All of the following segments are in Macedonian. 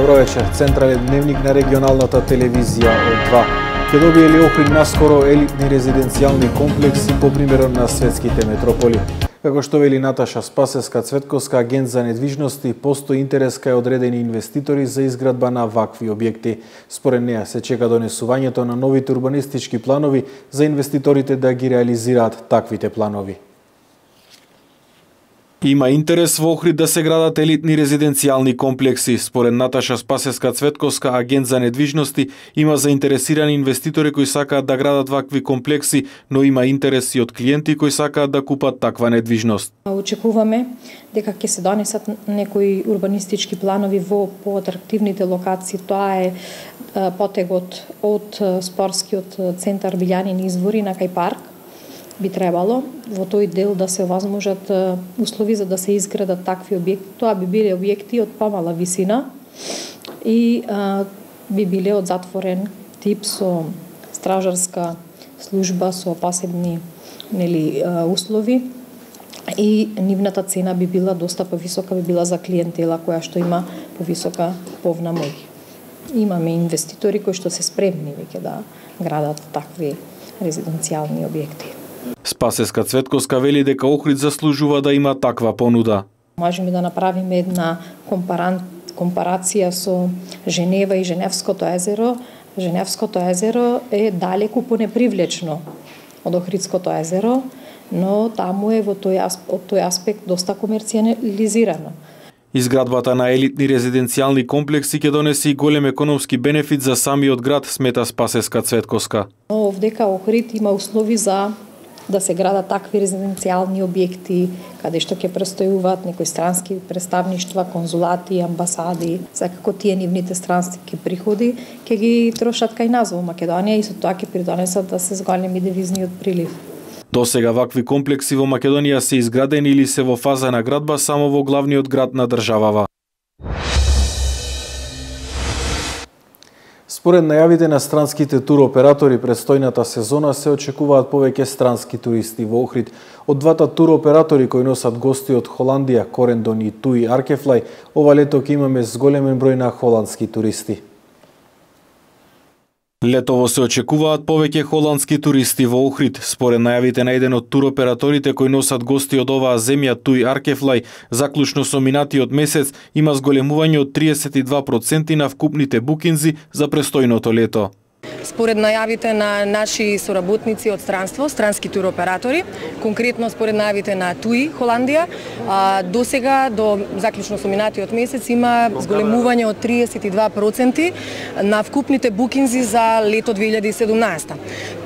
Добро вечер. Централен дневник на регионалната телевизија од 2. Ќе добие ли Охрид наскоро елитни резиденцијални комплекси по примерот на светските метрополи? Како што вели Наташа Спасеска Цветковска, агент за недвижности, постои интерес кај одредени инвеститори за изградба на вакви објекти. Според неа се чека донесувањето на новите урбанистички планови за инвеститорите да ги реализираат таквите планови. Има интерес во Охрид да се градат елитни резиденцијални комплекси. Според Наташа Спасеска Цветковска, агент за недвижности, има заинтересирани инвеститори кои сакаат да градат вакви комплекси, но има интерес и од клиенти кои сакаат да купат таква недвижност. Очекуваме дека ќе се донесат некои урбанистички планови во поатрактивните локации. Тоа е потегот од спортскиот центар Билјанин извори на кај парк. Би требало во тој дел да се возможат услови за да се изградат такви објекти. Тоа би биле објекти од помала висина и би биле од затворен тип со стражарска служба со посебни услови и нивната цена би била доста повисока, би била за клиентела која што има повисока куповна моќ. Имаме инвеститори кои што се спремни веќе да градат такви резиденцијални објекти. Спасеска Цветковска вели дека Охрид заслужува да има таква понуда. Можеме да направиме една компарација со Женева и Женевското езеро. Женевското езеро е далеку понепривлечно од Охридското езеро, но таму е од тој аспект доста комерцијализирано. Изградбата на елитни резиденцијални комплекси ќе донесе и голем економски бенефит за самиот град, смета Спасеска Цветковска. Овдека Охрид има услови за да се градат такви резиденцијални објекти, каде што ќе престојуваат некои странски представништва, конзулати, амбасади. Секако тие нивните странски приходи ќе ги трошат кај нас во Македонија и со тоа ќе придонесат да се зголеми девизниот прилив. До сега вакви комплекси во Македонија се изградени или се во фаза на градба само во главниот град на државава. Според најавите на странските туроператори, престојната сезона се очекуваат повеќе странски туристи во Охрид. Од двата туроператори кои носат гости од Холандија, Корендон и TUI Archefly, ова лето ќе имаме зголемен број на холандски туристи. Летово се очекуваат повеќе холандски туристи во Охрид. Според најавите на еден од туроператорите кои носат гости од оваа земја, TUI Archefly, заклучно со минатиот месец има зголемување од 32% на вкупните букинзи за престојното лето. Според најавите на наши соработници од странство, странски туроператори, конкретно според најавите на TUI Холандија, до сега, до заклучно со минатиот месец, има зголемување од 32% на вкупните букинзи за лето 2017.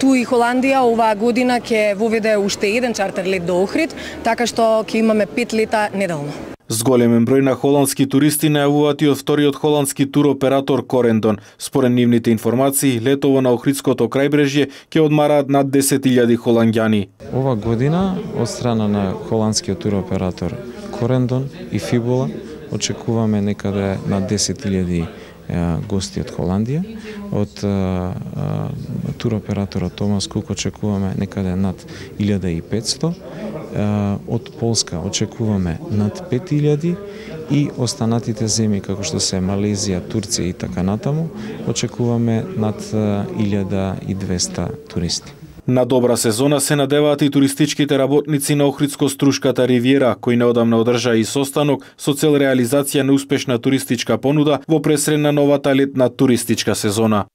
TUI Холандија оваа година ќе воведе уште еден чартер лет до Охрид, така што ќе имаме 5 лета неделно. Зголемен број на холандски туристи најавуваат и од вториот холандски туроператор Корендон. Според нивните информации, летово на Охридското крајбрежје ќе одмараат над 10.000 холанѓани. Ова година, од страна на холандскиот туроператор Корендон и Фибула, очекуваме некаде над 10.000 гости од Холандија. Од туроператорот Томас Кук очекуваме некаде над 1500. Од Полска очекуваме над 5000 и останатите земји како што се Малезија, Турција и така натаму очекуваме над 1200 туристи. На добра сезона се надеваат и туристичките работници на Охридско-Струшката ривиера, кои неодамна одржаа и состанок со цел реализација на успешна туристичка понуда во пресред на новата летна туристичка сезона.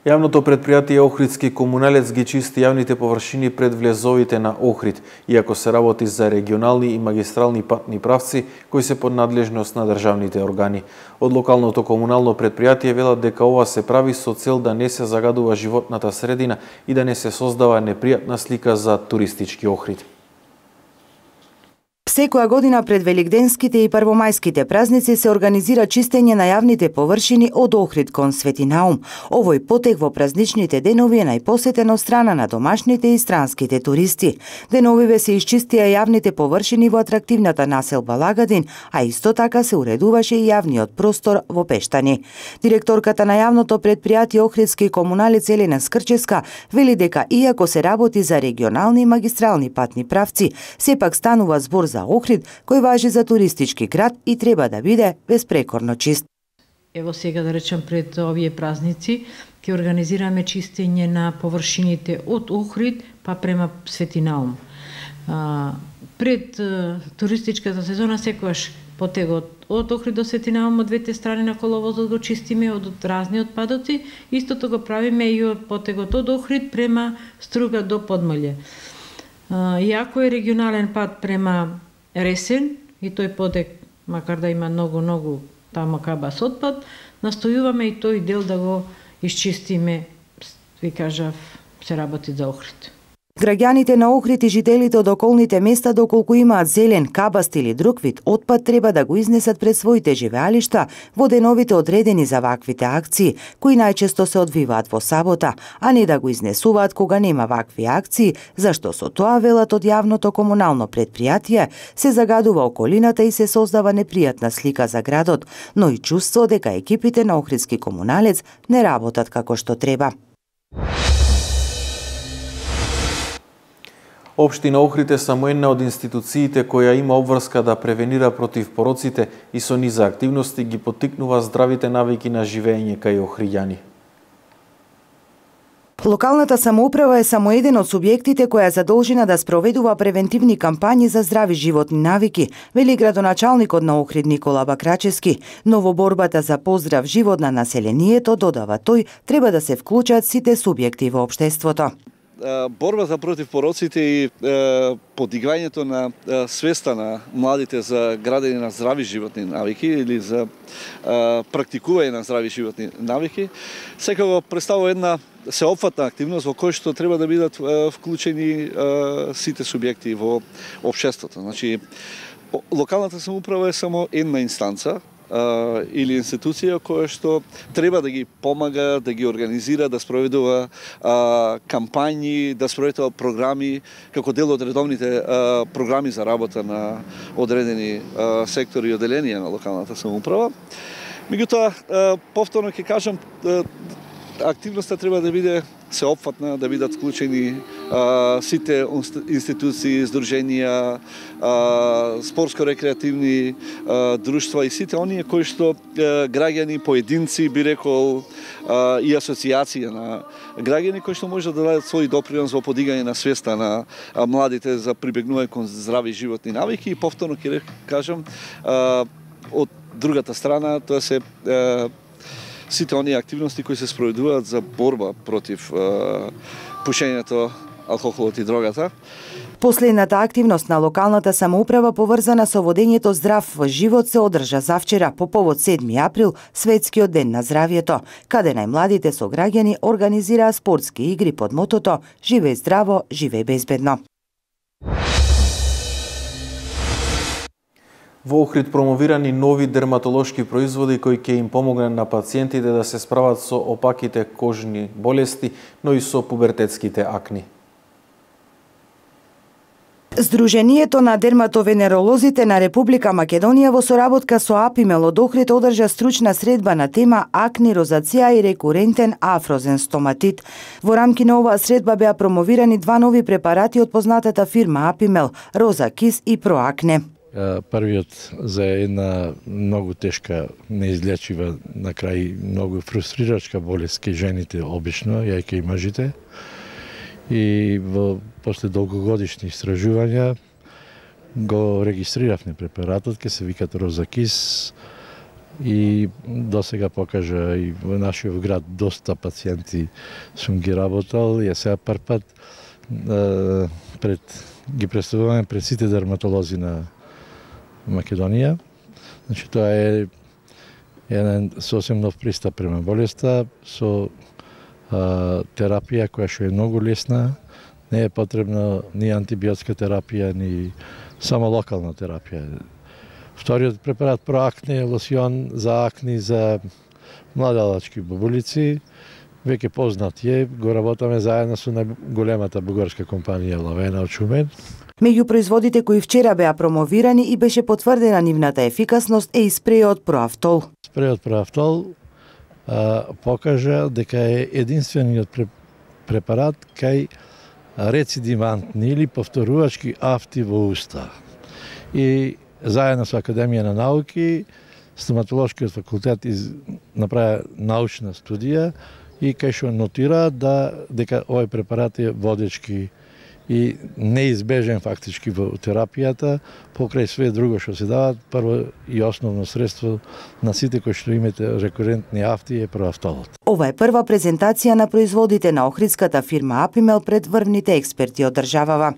Јавното предпријатие Охридски комуналец ги чисти јавните површини пред влезовите на Охрид, иако се работи за регионални и магистрални патни правци кои се под надлежност на државните органи. Од локалното комунално предпријатие велат дека ова се прави со цел да не се загадува животната средина и да не се создава непријатна слика за туристички Охрид. Секоја година пред великденските и првомајските празници се организира чистење на јавните површини од Охрид кон Свети Наум. Овој потег во празничните денови е најпосетен од страна на домашните и странските туристи. Деновиве се исчистија јавните површини во атрактивната населба Лагадин, а исто така се уредуваше и јавниот простор во Пештани. Директорката на јавното предпријатие Охридски комуналец Елена Скрческа вели дека иако се работи за регионални и магистрални патни правци, сепак станува збор за за Охрид, кој важи за туристички град и треба да биде безпрекорно чист. Ево сега да речем пред овие празници ќе организираме чистење на површините од Охрид па према Свети Наум. Пред туристичката сезона секогаш потегот од Охрид до Свети Наум од двете страни на коловозот го чистиме од разни отпадоци, истото го правиме и од потегот од Охрид према Струга до Подмолје. Иако е регионален пат према Ресен и тој потег, макар да има многу таму кабас отпад, настојуваме и тој дел да го исчистиме, ви кажав, се работи за Охрид. Граѓаните на Охрид и жителите од околните места, доколку имаат зелен, кабаст или друг вид отпад, треба да го изнесат пред своите живеалишта во деновите одредени за ваквите акции, кои најчесто се одвиваат во сабота, а не да го изнесуваат кога нема вакви акции, зашто со тоа, велат од јавното комунално предпријатие, се загадува околината и се создава непријатна слика за градот, но и чувство дека екипите на Охридски комуналец не работат како што треба. Општина Охрид е само една од институциите која има обврска да превенира против пороците и со низа активности ги поттикнува здравите навики на живење кај охриѓани. Локалната самоуправа е само еден од субјектите која е задолжена да спроведува превентивни кампањи за здрави животни навики, вели градоначалникот на Охрид Никола Бакрачевски, но во борбата за поздрав живот на населението, додава тој, треба да се вклучат сите субјекти во општеството. Борбата против пороците и подиграњето на свеста на младите за градење на здрави животни навики или за практикување на здрави животни навики секако представува една сеопфатна активност во која што треба да бидат вклучени сите субјекти во општеството. Значи, локалната самоуправа е само една инстанца или институција која што треба да ги помага, да ги организира, да спроведува кампањи, да спроведува програми како дел од редовните програми за работа на одредени сектори и оделенија на локалната самоуправа. Меѓутоа, повторно ќе кажам, активноста треба да биде сеопфатна, да бидат вклучени сите институции, здруженија, спортско-рекреативни друштва и сите оние кои што граѓани, поединци, би рекол, и асоцијација на граѓани кои што може да дадат свој допринос во подигање на свеста на младите за прибегнување кон здрави животни навики и повторно ќе кажам, од другата страна тоа се сите оние активности кои се спроведуваат за борба против пушењето, алкохолот и дрогата. Последната активност на локалната самоуправа поврзана со водењето здрав живот се одржа завчера по повод 7 април, Светскиот ден на здравието, каде најмладите сограѓани организираа спортски игри под мотото "Живеј здраво, живеј безбедно". Во Охрид промовирани нови дерматолошки производи кои ќе им помогнат на пациентите да се справат со опаките кожни болести, но и со пубертетските акни. Сдруженијето на дерматовенеролозите на Република Македонија во соработка со Апимел од Охрид одржа стручна средба на тема акни, розација и рекурентен афрозен стоматит. Во рамки на оваа средба беа промовирани два нови препарати од познатата фирма Апимел, Розакис и Проакне. Првиот за една многу тешка, неизлечива, на крај многу фрустрирачка болест кај жените обично, ја и кај мажите. И после долгогодишни истражувања го регистрировавме препаратот, ке се викат Розакис, и досега покажа и во нашиот град доста пациенти сум ги работал. Ја сега прв пат ги представуваме пред сите дерматолози на Македонија. Значи, тоа е еден сосем нов пристап према болеста со терапија која што е многу лесна, не е потребна ни антибиотска терапија, ни само локална терапија. Вториот препарат Проакне е лосион за акни за младалачки бабулици, веќе познат е, го работаме заедно со најголемата бугарска компанија Лавена од Шумен. Меѓу производите кои вчера беа промовирани и беше потврдена нивната ефикасност е и спрејот Проафтол. Спрејот Проафтол покажа дека е единствениот препарат кај рецидивантни или повторувачки афти во уста. и заедно со Академија на науки, стоматолошкиот факултет направи научна студија и кај што нотира дека овој препарат е водечки и неизбежен фактички во терапијата, покрај све друго што се дават, прво и основно средство на сите кои што имате рекурентни афти е правафтолот. Ова е прва презентација на производите на охридската фирма Апимел пред врвните експерти од државава.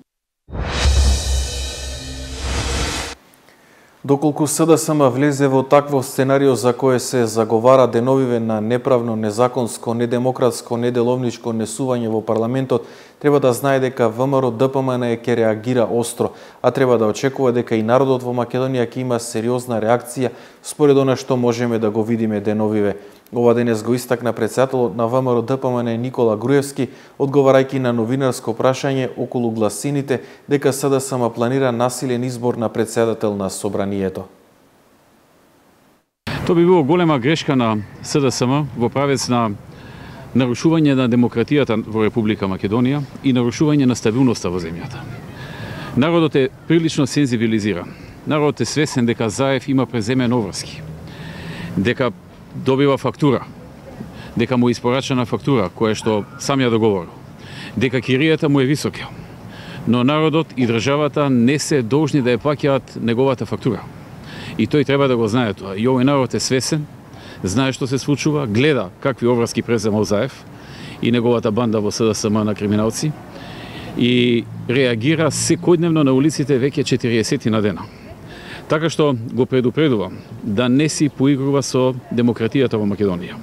Доколку СДСМ влезе во такво сценарио за кое се заговара деновиве на неправно, незаконско, недемократско, неделовничко несување во парламентот, треба да знае дека ВМРО ДПМН ќе реагира остро, а треба да очекува дека и народот во Македонија ќе има сериозна реакција според она што можеме да го видиме деновиве. Ова денес го истакна претседателот на ВМРО ДПМН Никола Груевски, одговарајќи на новинарско прашање околу гласините дека СДСМ планира насилен избор на претседател на собранието. Тоа би било голема грешка на СДСМ во правец на нарушување на демократијата во Република Македонија и нарушување на стабилноста во земјата. Народот е прилично сензибилизиран. Народот е свесен дека Заев има преземен обврски, дека добива фактура, дека му е испорачена фактура која што сам ја договорил, дека киријата му е висока, но народот и државата не се должни да ја плаќаат неговата фактура. И тој треба да го знае тоа. И овој народ е свесен, знае што се случува, гледа какви обврски преземал Заев и неговата банда во СДСМ на криминалци и реагира секојдневно на улиците веќе 40 на дена. Така што го предупредувам да не си поигрува со демократијата во Македонија,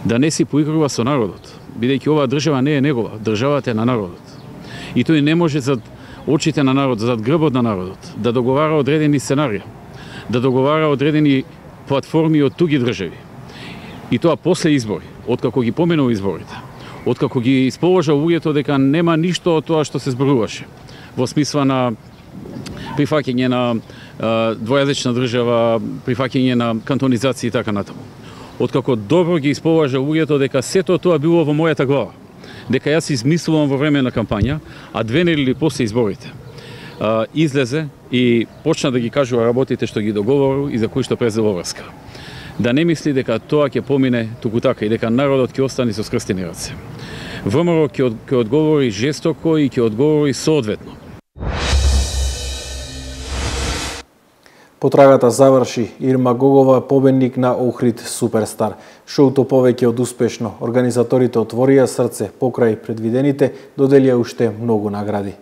да не си поигрува со народот, бидејќи оваа држава не е негова, државата е на народот. И тој не може зад очите на народот, зад грбот на народот, да договара одредени сценарија, да договара одредени платформи од туги држави. И тоа после избори, откако ги поминува изборите, откако ги исположа луѓето дека нема ништо од тоа што се зборуваше, во смисла на прифаќање на двојазична држава, прифаќање на кантонизација и така натаму. Откако добро ги исположа луѓето дека сето тоа било во мојата глава, дека јас измислувам во време на кампања, а 2 недели после изборите излезе и почна да ги кажува работите што ги договорил и за кои што презел обврска. Да не мисли дека тоа ќе помине туку така и дека народот ќе остане со скрстени раце. ВМРО ќе одговори жестоко и ќе одговори соодветно. Потрагата заврши. Ирма Гогова победник на Охрид Суперстар. Шоуто повеќе од успешно. Организаторите отворија срце покрај предвидените, доделија уште многу награди.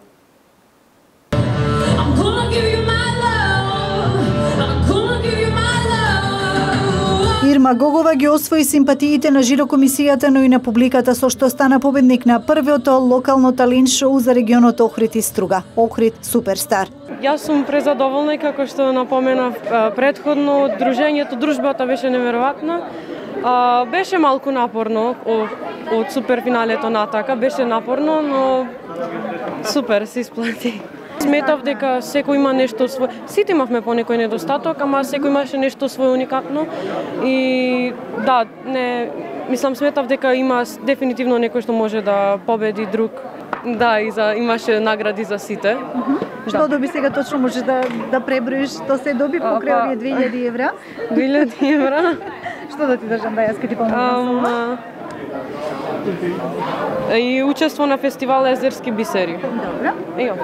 Ирма Гогова ги освои симпатиите на жирокомисијата, но и на публиката, со што стана победник на првиот локално талент шоу за регионот Охрид и Струга, Охрид Суперстар. Јас сум презадоволна, како што напоменав претходно, дружбата беше неверојатна. Беше малку напорно од суперфиналето натака, беше напорно, но супер се исплати. Сметав дека секој има нешто свој. Сите имавме по некој недостаток, ама секој имаше нешто свој уникатно. И да, сметав дека има дефинитивно некој што може да победи друг. Да, имаше награди за сите. Што доби сега точно, можеш да преброиш, што се доби покрај овие 2000 евра? 2000 евра. Што да ти држам да јас ке ти помогнам? И учество на фестивал Езерски бисери. Добро.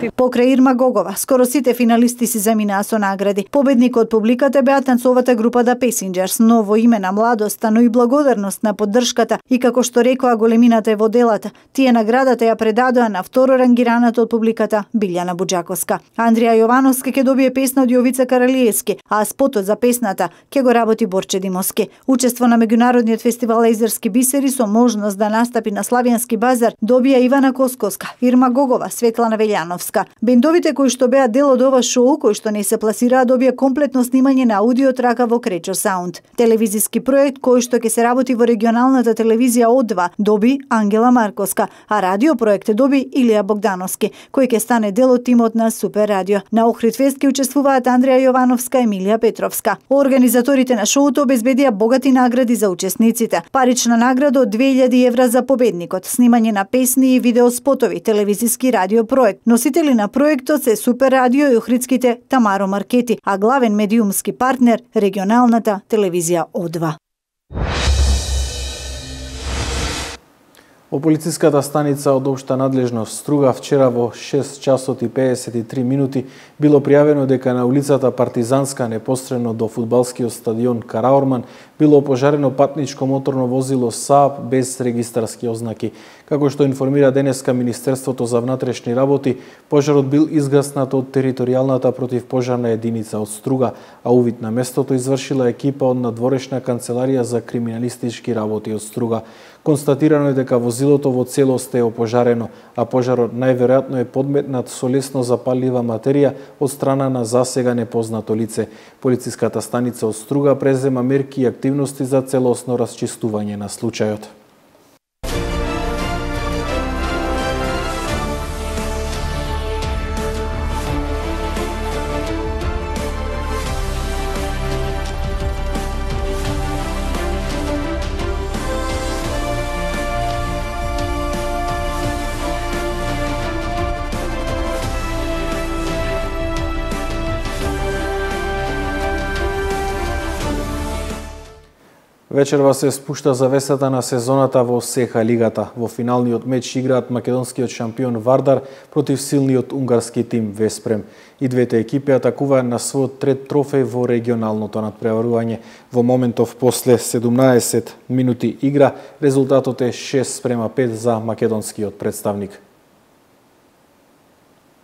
Покрај Ирма Гогова, скоро сите финалисти си заминаа со награди. Победник од публиката беа танцовата група The Passengers, ново име на младоста, но и благодарност на поддршката и како што рекоа големината е во делата. Тие наградата ја предадоа на второ рангираната од публиката Билјана Буџаковска. Андрија Јовановска ќе добие песна од Јовица Каралиевски, а спотот за песната ќе го работи Борче Димовски. Учество на меѓународниот фестивал Езерски бисери со можност да настапи на Славјански базар добија Ивана Косковска, Ирма Гогова, Светлана Велјановска. Бендовите кои што беа дел од ова шоу, кои што не се пласираа, добија комплетно снимање на аудио трака во Кречо Саунд. Телевизиски проект кој што ќе се работи во регионалната телевизија О2 доби Ангела Марковска, а радио проект доби Илија Богдановски, кој ќе стане дел од тимот на Супер радио. На Охрид фест ќе учествуваат Андрија Јовановска и Емилија Петровска. Организаторите на шоуто обезбедија богати награди за учесниците. Парична награда од 2000 евра за победникот, снимање на песни и видеоспотови, телевизиски радио проект. Носители Соучредители на проектот се Супер радио и охридските Тамаро Маркети, а главен медиумски партнер регионалната телевизија О2. Во полициската станица од општа надлежност Струга вчера во 6 часот и 53 минути било пријавено дека на улицата Партизанска непосредно до фудбалскиот стадион Караорман било пожарено патничко моторно возило Saab без регистарски ознаки. Како што информира денеска Министерството за внатрешни работи, пожарот бил изгаснат од територијалната противпожарна единица од Струга, а увид на местото извршила екипа од надворешна канцеларија за криминалистички работи од Струга. Констатирано е дека возилото во целост е опожарено, а пожарот најверојатно е подметнат со лесно запаллива материја од страна на засега непознато лице. Полициската станица од Струга презема мерки и активности за целосно расчистување на случајот. Вечерва се спушта завесата на сезоната во СЕХА лигата. Во финалниот меч играат македонскиот шампион Вардар против силниот унгарски тим Веспрем. И двете екипи атакуваат на својот трет трофеј во регионалното надпреварување. Во моментов после 17 минути игра, резултатот е 6:5 за македонскиот представник.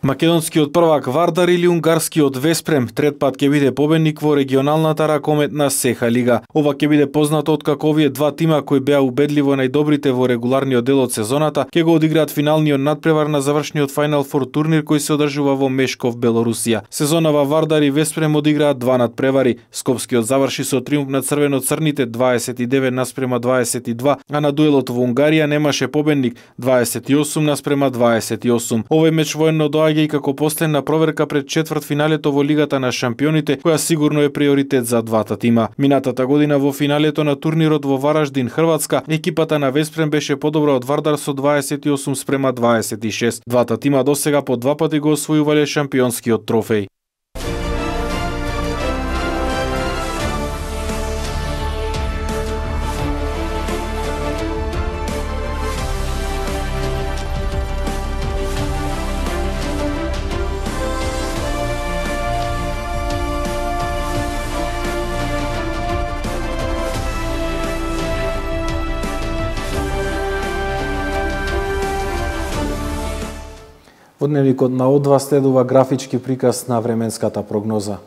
Македонскиот првак Вардар или унгарскиот Веспрем трет пат ќе биде победник во регионалната ракометна СЕХА лига. Ова ќе биде познато откако овие два тима кои беа убедливо најдобрите во регуларниот дел од сезоната ќе го одиграат финалниот надпревар на завршниот Final Four турнир кој се одржува во Мешков, Белорусија. Сезонава Вардар и Веспрем одиграат два надпревари. Скопскиот заврши со триумф на црвено-црните 29:22, а на дуелот во Унгарија немаше победник 28:28. Овој меч воено доаѓа и како последна проверка пред четвртфиналето во Лигата на шампионите, која сигурно е приоритет за двата тима. Минатата година во финалето на турнирот во Вараждин, Хрватска, екипата на Веспрем беше подобра од Вардар со 28:26. Двата тима досега по два пати го освојувале шампионскиот трофеј. Во дневникот на О2 следува графички приказ на временската прогноза.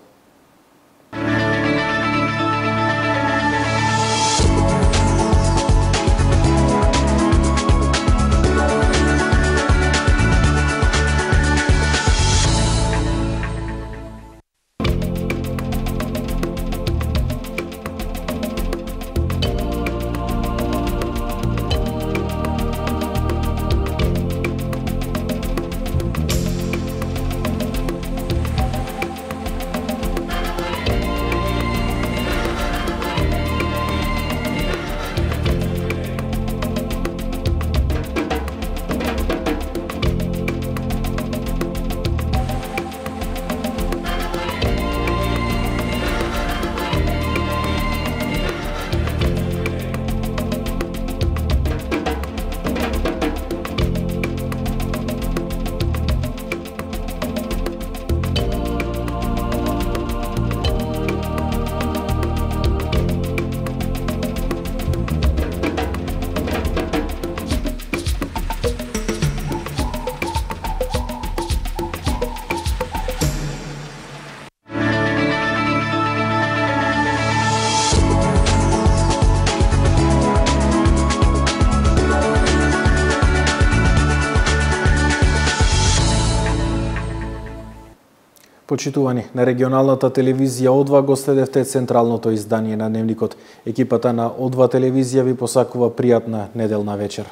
Почитувани, на регионалната телевизија О2 го следевте централното издание на Дневникот. Екипата на О2 телевизија ви посакува пријатна неделна вечер.